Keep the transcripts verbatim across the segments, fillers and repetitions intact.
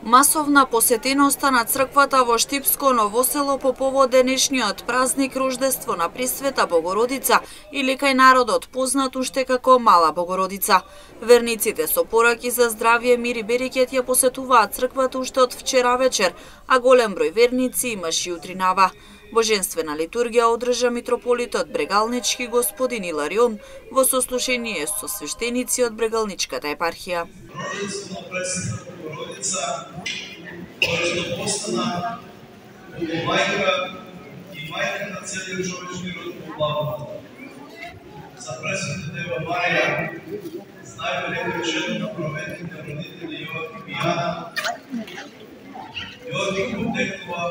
Масовна посетеноста на црквата во Штипско Ново Село по повод денешниот празник Рождество на Пресвета Богородица или кај народот познат уште како Мала Богородица. Верниците со пораки за здравје, мир и берекет ја посетуваат црквата уште од вчера вечер, а голем број верници имаше и утринава. Божествена литургија одржа митрополитот Брегалнички господин Иларион во сослушение со свештеници од Брегалничката епархија. Рождество на Пресвета Богородица, која што постана мајка и мајка на целиот човечки род по благодат. За Пресвета Дева Марија, знаеме дека е жена на праведните родители Јоаким и Јана. Јоаким потекнува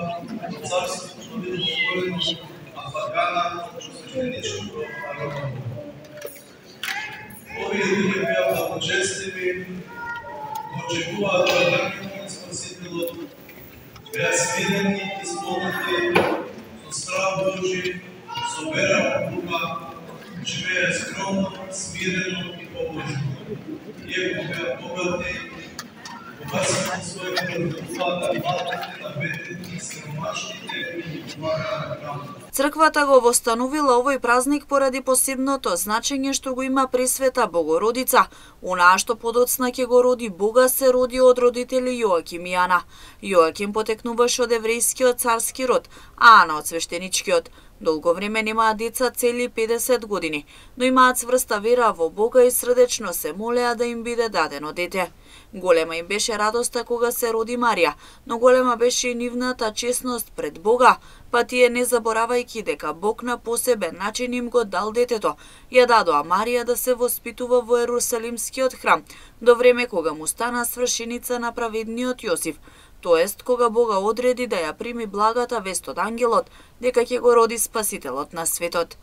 од царството на Видово, а Фагана од свештеничкото народно. Овие луѓе беа благочестиви, го очекуваат доаѓањето на Спасителот, беа смирени и исполнети со страх Божи, со вера во Бога, живееа скромно, смирено и побожно. Иако беа богати, богатството своето родуваат младите, на бедните, сиромашните и помагаат на храмот. Црквата го востановила овој празник поради посебното значење што го има Пресвета Богородица. Онаа што подоцна ќе го роди Бога се роди од родители Јоаким и Јана. Јоаким потекнуваше од еврејскиот царски род, а Ана од свештеничкиот. Долго време немаат деца цели педесет години, но имаат цврста вера во Бога и срдечно се молеа да им биде дадено дете. Голема им беше радоста кога се роди Марија, но голема беше и нивната честност пред Бога, па тие не заборавајќи дека Бог на посебен начин им го дал детето, ја дадоа Марија да се воспитува во Ерусалимскиот храм, до време кога му стана свршеница на праведниот Јосиф, тоест кога Бога одреди да ја прими благата вест од ангелот, дека ќе го роди Спасителот на светот.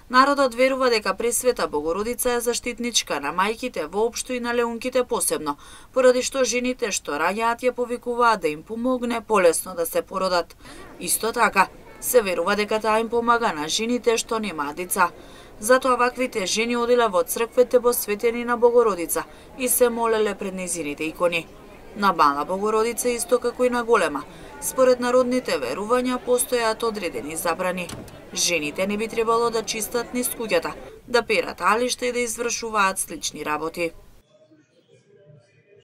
Народот верува дека Пресвета Богородица е заштитничка на мајките воопшто и на леунките посебно, поради што жените што раѓаат ја повикуваат да им помогне полесно да се породат. Исто така, се верува дека таа им помага на жените што немаат деца. Затоа ваквите жени оделе во црквите посветени на Богородица и се молеле пред нејзините икони. На Мала Богородица исто како и на Голема, според народните верувања постојаат одредени забрани. Жените не би требало да чистат низ куќата, да перат алишта и да извршуваат слични работи.